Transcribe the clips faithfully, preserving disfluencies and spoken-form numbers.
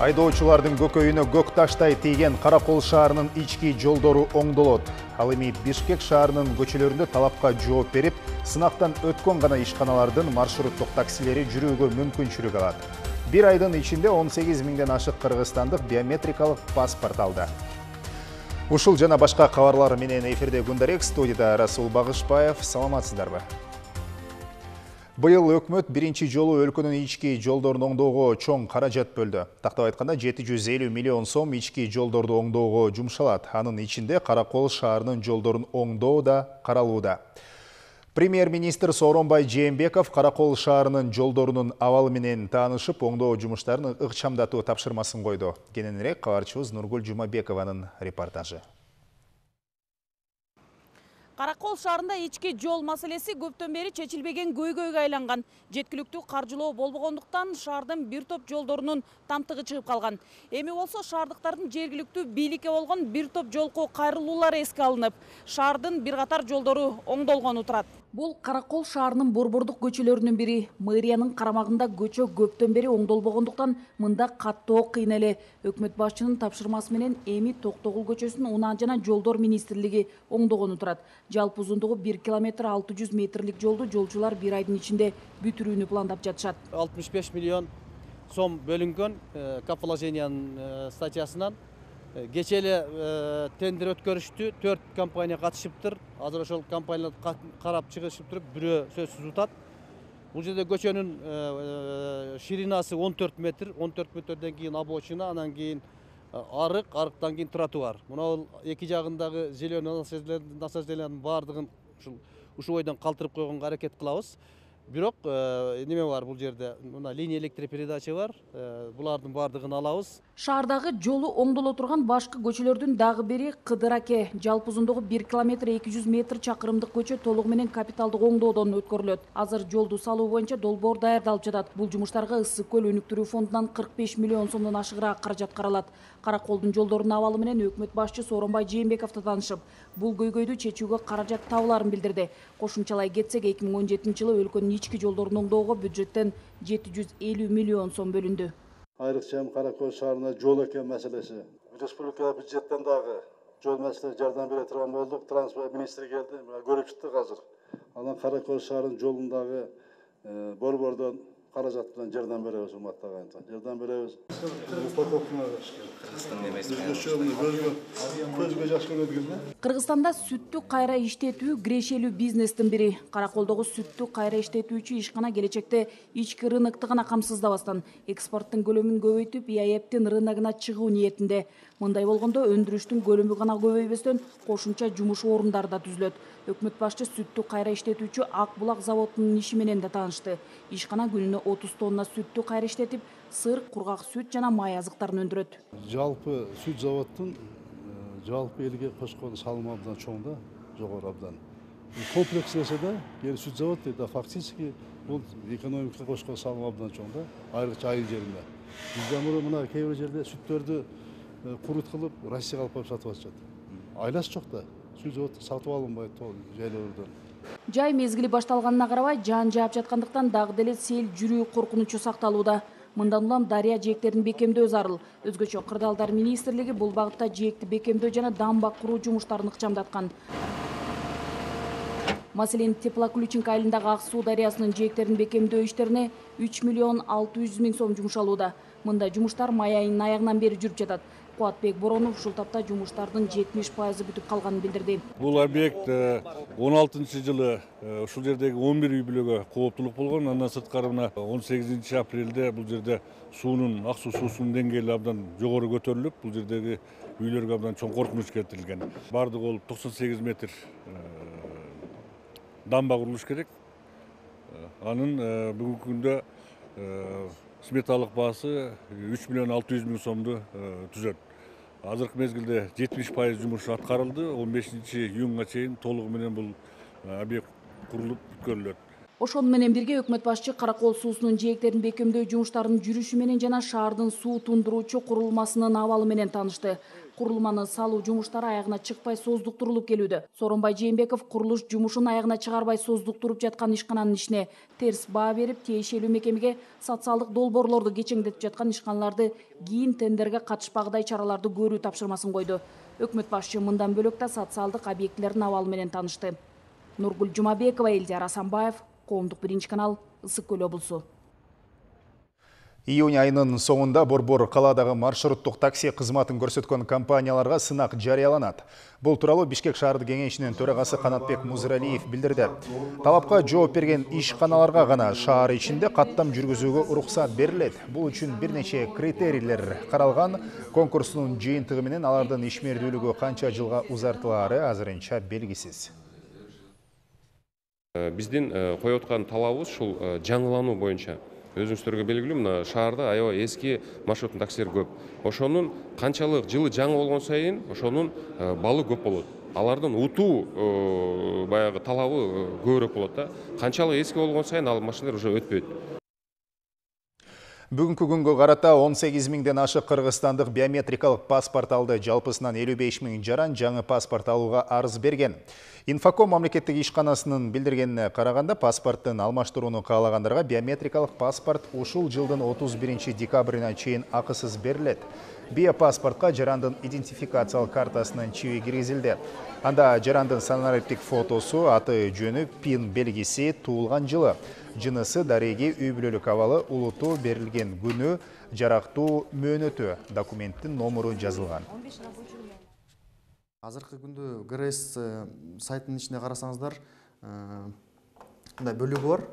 Айдоочулардын көкөйүнө көк таштай тийген Каракол шаарынын ички жолдору оңдолот. Ал эми Бишкек шаарынын көчөлөрүндө талапка жооп берип, сынактан өткөн гана ишканалардын маршруттук таксилери жүрүүгө мүмкүнчүлүк алат. Бир айдын ичинде он сегиз миңден ашык кыргызстандык биометрикалык паспорт алды. Ушул жана башка кабарлар менен эфирде Гундарек, студияда Расул Багышбаев. Саламатсыздарбы? Быйыл өкмөт биринчи жолу өлкөнүн ички жолдорун оңдоого чоң каражат бөлдү. Тактап айтканда жети жүз элүү миллион сом ички жолдорду оңдоого жумшалат. Анын ичинде Каракол шаарынын жолдорун оңдоо да каралууда. Премьер-министр Сооронбай Жээнбеков Каракол шаарынын жолдорунун абалы менен таанышып, оңдоо жумуштарын ыкчамдатуу тапшырмасын койду. Кененирээк кабарчыбыз Нургул Жумабекованын репортажы. Каракол шаарында ички жол маселеси көптөн бери чечилбеген көйгөйгө айланган. Жеткиликтүү каржылоо болбогондуктан шаардын бир топ жолдорунун тамтыгы чыгып калган. Эми болсо шаардыктардын жергиликтүү бийликке болгон бир топ жолку кайрылуулары эске алынып, шаардын бир катар жолдору оңдолгону турат. Бул Каракол шаарынын борбордук көчөлөрүнүн бири. Мэриянын карамагында көчө көптөн бери оңдолбогондуктан мында каттоо кыйын эле. Өкмөт башчынын тапшырмасы менен эми Токтогул көчөсүн унаа жана жолдор министрлиги оңдогону турат. Жалпы узундугу бир километр алты жүз метрлик жолду жолчулар бир айдын ичинде бүтүрүүнү пландап жатышат. алтымыш беш миллион сом бөлүнгөн капиталовложениянын статьясынан. Кечээ эле тендер өткөрүштү, төрт компания катышыптыр. Азыр ошол компаниялар карап чыгышып туруп, бирөө сөзсүз утат. Бул жерде көчөнүн ширинасы он төрт метр, он төрт метрден кийин обочина, анан кийин арык, арыктан кийин тротуар. Мына эки жагындагы зеленый насаждениянын баардыгын ушул ушул бойдон калтырып койгонго аракет кылабыз. Бирок неме бар бул жерде? Мына линия электропередача бар. Булардын баардыгын алабыз. Шаардагы жолу оңдоло турган башкы көчөлөрдүн дагы бири Кыдыраке. Жалпы узундугу бир километр эки жүз метр чакырымдык көчө толугу менен капиталдык оңдоодон өткөрүлөт. Азыр жолду салуу боюнча долбоор даярдалып жатат. Бул жумуштарга Ысык көл өнүктүрүү фондунан кырк беш миллион сомдон ашыгыраак каражат каралат. Караколдун жолдорунун абалы менен өкмөт башчы Сооронбай Жээнбеков таанышып, бул көйгөйдү чечүүгө каражат табыларын билдирди. Кошумчалай кетсек, эки миң он жетинчи жылы өлкөнүн ички жолдорун оңдоого бюджеттен жети жүз элүү миллион сом бөлүндү. Айрыкча Каракол шаарына жол экен маселеси. Республика бюджеттен дагы жол маселесине жардам бере турган болдук. Транспорт министри келди, көрүп чыктык азыр. Анан Каракол шаарынын жолундагы борбордон каражат менен жардам беребиз, урматтуу агайын. Жардам беребиз. Кыргызстанда сүттү кайра иштетүү кирешелүү бизнестин бири. Караколдогу сүттү кайра иштетүүчү ишкана келечекте ички рынокту гана камсыздабастан экспорттун көлөмүн көбөйтүп, и а эптин рыногуна чыгуу ниетинде. Мындай болгондо өндүрүштүн көлөмү гана көбөйбөстөн кошумча жумуш орундары да түзүлөт. Өкмөт башчы сүттү кайра иштетүүчү Ак Булак заводунун иши менен да таанышты. Ишкана күнүнө отуз тонна сүттү кайра иштетип, сыр, кургак сүт жана май азыктарын өндүрөт. Жалпы сүт заводдун жалпы элге кошкон салымы абдан чоң да, жогору абдан. Комплекс эседе, кээ сүт завод да фактически бул экономикага кошкон салымы абдан чоң да, айрыкча айыл жеринде. Бизде мына кээ бир жерде сүттөрдү курут кылып Россияга алып барып сатып атышат. Айласы жок да, сүт завод сатып алынбайт жайлоордон. Жай мезгили башталганына карабай, жаан жаап жаткандыктан дагы деле сел жүрүү коркунучу сакталууда. Мындан улам дарыя жээктерин бекемдөө зарыл. Өзгөчө Кырдаалдар министрлиги бул багытта жээкти бекемдөө жана дамба куруу жумуштарын ыкчамдаткан. Маселен, Теплоключенко айылындагы Ак суу дарыясынын жээктерин бекемдөө иштерине үч миллион алты жүз миң сом жумшалууда. Мындай жумуштар май айынын аягынан бери жүрүп жатат. Кубатбек Боронов ушул тапта жумуштардын жетимиш пайызы бүтүп калганын билдирди. Бул объект он алтынчы жылы ушул жердеги он бир үй бүлөгө кооптулук болгон. Андан сырткары мына он сегизинчи апрелде бул жерде суунун, ак суу суусунун деңгээли абдан жогору көтөрүлүп, бул жердеги үйлөргө абдан чоң коркунуч келтирилген. Бардыгы болуп токсон сегиз метр дамба курулуш керек. Анын бүгүнкү күндө сметалык баасы үч миллион алты жүз миң сомду түзөт. Азыркы мезгилде жетимиш пайыз жумуш аткарылды. он бешинчи июнга чейин толугу менен бул объект курулуп бүткөрүлөт. Ошону менен бирге өкмөт башчы Каракол суусунун жээктерин бекемдөө жумуштарынын жүрүшү менен жана шаардын суу тундуруучу курулмасынын абалы менен таанышты. Курулманы салуу жумуштары аягына чыкпай создуктурулуп келүүдө. Сооронбай Жээнбеков курулуш жумушун аягына чыгарбай создуктуруп жаткан ишкананын ишине терс баа берип, тиешелүү мекемеге социалдык долбоорлорду кечеңдетип жаткан ишканаларды кийин тендерге катышпагыдай чараларды көрүү тапшырмасын койду. Өкмөт башчы мындан бөлөк да социалдык объектилердин абалы менен таанышты. Нургүл Жумабекова, Элдияр Асанбаев, Коомдук биринчи канал, Ысык Көл облусу. Июнь айынын соңунда Борбор калаадагы маршруттук такси кызматын көрсөткөн компанияларга сынак жарыяланат. Бул тууралуу Бишкек шаардык кеңешинин төрагасы Канатбек Музыралиев билдирди. Талапка жооп берген ишканаларга гана шаар ичинде каттам жүргүзүүгө уруксат берилет. Бул үчүн бир нече критерийлер каралган. Конкурстун жыйынтыгы менен алардын ишмердүүлүгү канча жылга узартылаары азырынча белгисиз. Биздин коюп аткан талабыбыз ушул жаңылануу боюнча. Өзүңүздөргө белгилүү, мына шаарда аябай эски маршруттук таксилер көп. Ошонун канчалык жылы жаңы болгон сайын ошонун балы көп болот. Алардын утуу баягы талабы көбүрөөк болот да. Канчалык эски болгон сайын ал машиналар уже өтпөйт. Бүгүнкү күнгө карата он сегиз миңден ашык кыргызстандык биометрикалык паспорт алды. Жалпысынан элүү беш миң жаран жаңы паспорт алууга арыз берген. Инфоком мамлекеттик ишканасынын билдиргенине караганда, паспорттун алмаштырууну каалагандарга биометрикалык паспорт ушул жылдын отуз биринчи декабрына чейин акысыз берилет. Биопаспортко жарандын идентификациялык картасынын чиби киргизилди. Анда жарандын санариптик фотосу, аты жөнү, пин белгиси, туулган жылы, жынысы, дареги, үй бүлөлүк абалы, улуту, берилген күнү, жарактуу мөөнөтү, документтин номуру жазылган. Азыркы күндө гэ эр эс сайтынын ичине карасаңыздар, мындай бөлүгү бар.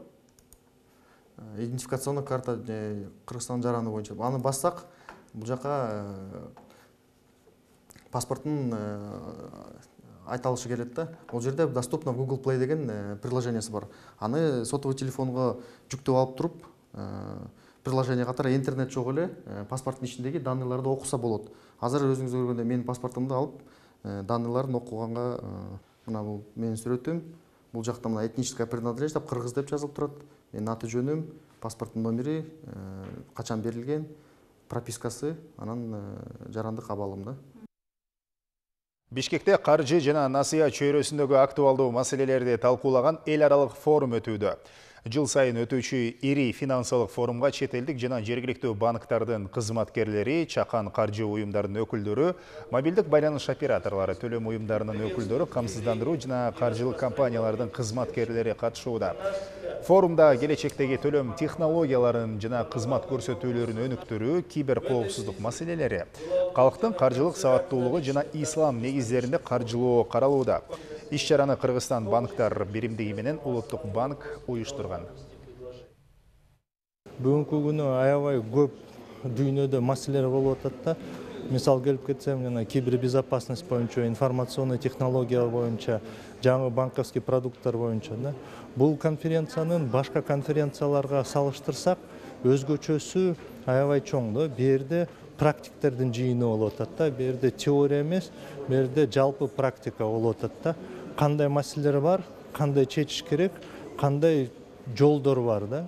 Идентификационный карта Кыргызстан жараны боюнча. Аны бассак, бул жака паспорттун айталышы келет да. Ол жерде доступно Google Play деген приложениясы бар. Аны сотовый телефонго жүктөп алып туруп, приложение катары интернет жок эле паспорттун ичиндеги данныйларды окуса болот. Азыр өзүңүз көргөндөй менин паспортумду алып данныйларын окуганга, мына бул менин сүрөтүм, бул жакта мына этническая принадлежность деп кыргыз деп жазылып турат. Менин аты жөнүм, паспорттун номери, качан берилген, пропискасы, анан жарандык абалым да. Бишкекте каржы жана насыя чөйрөсүндөгү актуалдуу маселелерди талкуулаган эл аралык форум өтүүдө. Жыл сайын өтүүчү ири финансылык форумга чет элдик жана жергиликтүү банктардын кызматкерлери, чакан каржы уюмдарынын өкүлдөрү, мобилдик байланыш операторлору, төлөм уюмдарынын өкүлдөрү, камсыздандыруу жана каржылык компаниялардын кызматкерлери катышууда. Форумда келечектеги төлөм технологияларын жана кызмат көрсөтүүлөрүнүн өнүктүрүү, кибер коопсуздук маселелери, калктын каржылык сабаттуулугу жана ислам негиздеринде каржылоо каралууда. Иш-чараны Кыргызстан банктар биримдиги менен Улуттук банк уюштурган. Бүгүнкү күнү аябай көп дүйнөдө маселелер болуп атат да. Мисал келип кетсем, жана кибербезопасность боюнча, информационный технология боюнча, жаңы банковский продукттар боюнча да. Бул конференциянын башка конференцияларга салыштырсак, өзгөчөсү аябай чоң да. Бу жерде практиктердин жыйыны болуп атат да. Бу жерде теория эмес, бу жерде жалпы практика болуп атат да. Кандай маселелер бар, кандай чечиш керек, кандай жолдор бар да.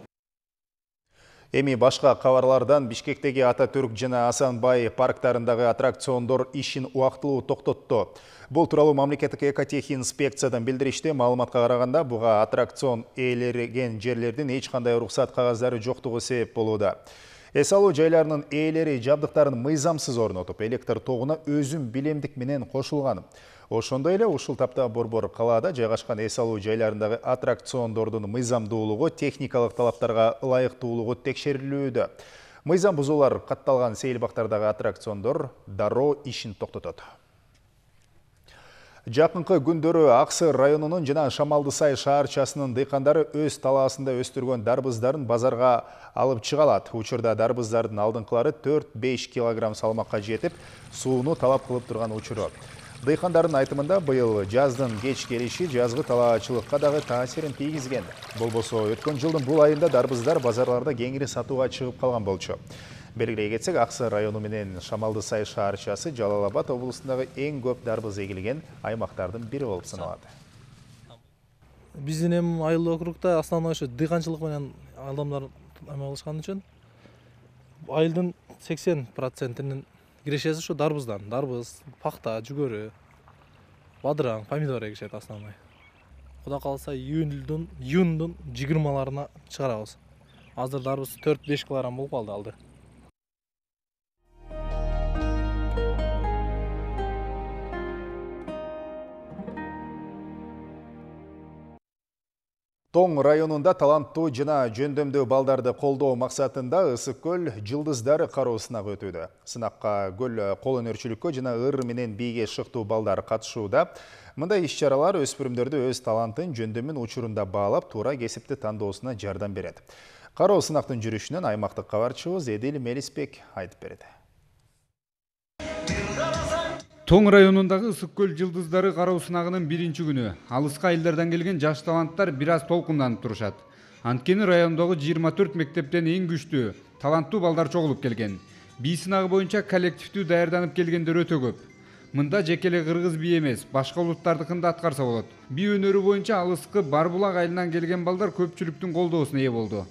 Эми башка кабарлардан Бишкектеги Ататүрк жана Асанбай парктарындагы аттракциондор ишин убактылуу токтотту. Бул тууралуу мамлекеттик экотех инспекциядан билдиришти. Маалыматка караганда, буга аттракцион ээлерген жерлердин эч кандай уруксат кагаздары жоктугу себеп болууда. Эс алуу жайларынын ээлери жабдыктарын мыйзамсыз орнотуп, электр тогуна өзүм билемдик менен кошулган. Ошондой эле ушул тапта Борбор калаада жайгашкан эс алуу жайларындагы аттракциондордун мыйзамдуулугу, техникалык талаптарга ылайыктуулугу текшерилүүдө. Мыйзам бузуулар катталган сейилбактардагы аттракциондор дароо ишин токтотот. Жакынкы күндөрү Аксы районунун жана Шамалдысай шаарчасынын дыйкандары өз талаасында өстүргөн дарбыздарын базарга алып чыгалат. Учурда дарбыздардын алдыңкылары төрт-беш килограмм салмакка жетип, сууну талап кылып турган учуру. Дыйкандардын айтымында быйыл жаздын кеч келиши жазгы талаачылыкка дагы таасирин тийгизген. Болбосо өткөн жылдын бул айында дарбыздар базарларда кеңири сатууга чыгып калган болчу. Белгилей кетсек, Аксы району менен Шамалдысай шаарчасы Жалал Абад облусундагы эң көп дарбыз эгилген аймактардын бири болуп саналат. Биздин эми айыл округда основной ошо дыйканчылык менен адамдар эме кылышкан үчүн айылдын сексен процентинин кирешеси ушу дарбыздан. Дарбыз, пахта, жүгөрү, бадыраң, помидор эгишет основной. Кудай кааласа июндун июндун жыйырмаларына чыгарабыз. Азыр дарбыз төрт беш килограмм болуп калды алды. Тоң районунда таланттуу жана жөндөмдүү балдарды колдоо максатында Ысык көл жылдыздары кароо сынагы өтүүдө. Сынакка көл кол өнөрчүлүккө жана ыр менен бийге шыктуу балдар катышууда. Мындай иш-чаралар өспүрүмдөрдү өз талантын жөндөмүн учурунда баалап, туура кесипти тандоосуна жардам берет. Кароо сынактын жүрүшүнөн аймактык кабарчыбыз Эдил Мелисбек айтып берет. Тоң районундагы Ысык көл жылдыздары кароо сынагынын биринчи күнү алыска айылдардан келген жаш таланттар бир аз толкунданып турушат. Анткени райондогу жыйырма төрт мектептен эң күчтүү, таланттуу балдар чогулуп келген. Бий сынагы боюнча коллективдүү даярданып келгендер өтө көп. Мында жеке эле кыргыз бий эмес, башка улуттардыкын да аткарса болот. Бий өнөрү боюнча алыскы Барбулак айылынан келген балдар көпчүлүктүн колдоосуна ээ болду.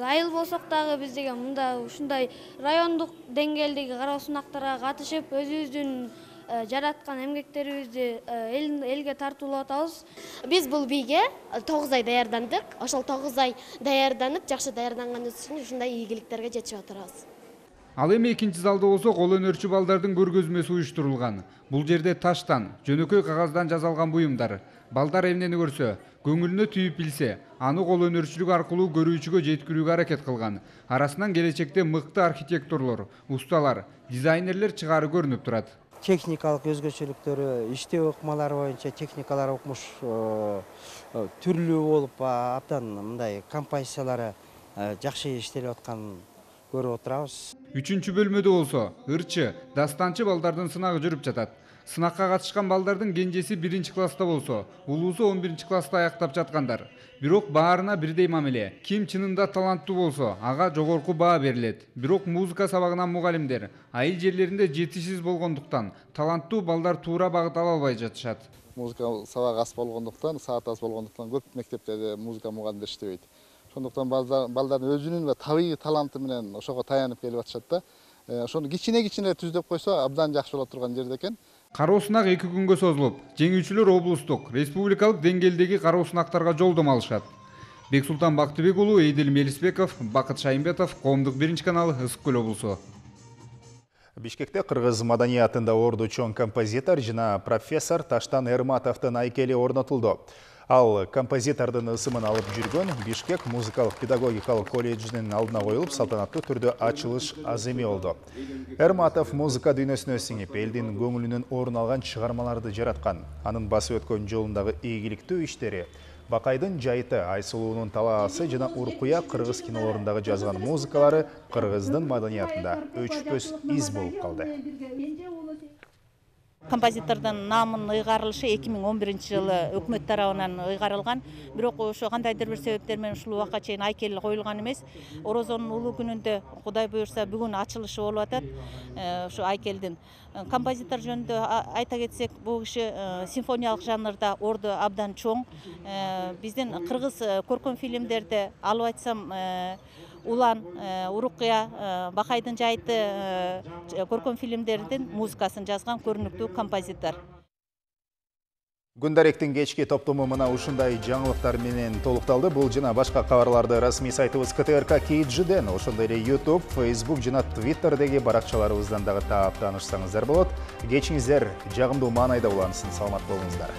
Айыл болсок дагы биз деген мында ушундай райондук деңгээлдеги кароо сынактарга катышып, өзүбүздүн жараткан эмгектерибизди элге тартуулап атабыз. Биз бул бийге тогуз ай даярдандык. Ошол тогуз ай даярданып, жакшы даярданганыбыз үчүн ушундай ийгиликтерге жетишип атабыз. Ал эми экинчи залда болсо кол өнөрчү балдардын көргөзмөсү уюштурулган. Бул жерде таштан, жөнөкөй кагаздан жасалган буюмдар. Балдар эмнени көрсө, көңүлүнө түйүп билсе, аны кол өнөрчүлүк аркылуу көрүүчүгө жеткирүүгө аракет кылган. Арасынан келечекте мыкты архитекторлор,усталар, дизайнерлер чыгаары көрүнүп турат. Техникалык өзгөчөлүктөрү, иштөө ыкмалары боюнча техникалар окмуш түрлүү болуп, абдан мындай композициялары жакшы иштелип атканын көрүп отурабыз. Үчүнчү бөлмөдө болсо, ырчы, дастанчы балдардын сынагы жүрүп жатат. Сынакка катышкан балдардын кенжеси биринчи класста болсо, улуусу он биринчи класста аяктап жаткандар. Бирок баарына бирдей мамиле. Ким чынында таланттуу болсо, ага жогорку баа берилет. Бирок музыка сабагынан мугалимдер айыл жерлеринде жетишсиз болгондуктан таланттуу балдар туура багыт ала албай жатышат. Музыка сабагы аз болгондуктан, саат аз болгондуктан көп мектептерде музыка мугалимдери иштебейт. Ошондуктан балдардын өзүнүн табигый таланты менен ошого таянып келип атышат да. Ошону кичине-кичине түздөп койсо абдан жакшы боло турган жерде экен. Кароо сынак эки күнгө созулуп, жеңүүчүлөр облустук, республикалык деңгээлдеги кароо сынактарга жолдомо алышат. Бексултан Бактыбек уулу, Эдил Мелисбеков, Бакыт Шайымбетов, Коомдук биринчи канал, Ысык көл облусу. Бишкекте кыргыз маданиятында орду чоң композитор жана профессор Таштан Эрматовдун айкели орнотулду. Ал композитордун ысымын алып жүргөн Бишкек музыкалык педагогикалык колледжинин алдына коюлуп, салтанаттуу түрдө ачылыш аз эме болду. Эрматов музыка дүйнөсүнө сиңип, элдин көңүлүнөн орун алган чыгармаларды жараткан. Анын басып өткөн жолундагы ийгиликтүү иштери, Бакайдын жайыты, Айсулуунун талаасы жана Уркуя кыргыз кинолорундагы жазган музыкалары кыргыздын маданиятында өчпөс из болуп калды. Композитордун намынын ыйгарылышы эки миң он биринчи жылы өкмөт тарабынан ыйгарылган. Бирок ошо кандайдыр бир себептер менен ушул убакка чейин айкел коюлган эмес. Орозонун улуу күнүндө Кудай буюрса бүгүн ачылышы болуп атат. Ошо айкелдин композитор жөнүндө айта кетсек, бул киши симфониялык жанрда орду абдан чоң. Биздин кыргыз көркөм фильмдерде алып айтсам Улан, Урукуя, Бакайдын жайыты көркөм фильмдердин музыкасын жазган көрүнүктүү композитор. Күндаректин кечки топтому мына ушундай жаңылыктар менен толукталды. Бул жана башка кабарларды расмий сайтыбыз ка тэ эр ка кей джи ден, ошондой эле YouTube, Facebook жана Twitterдеги баракчаларыбыздан дагы таап таанышсаңыздар болот. Кечиңиздер жагымдуу маанайда улансын. Саламат болуңуздар.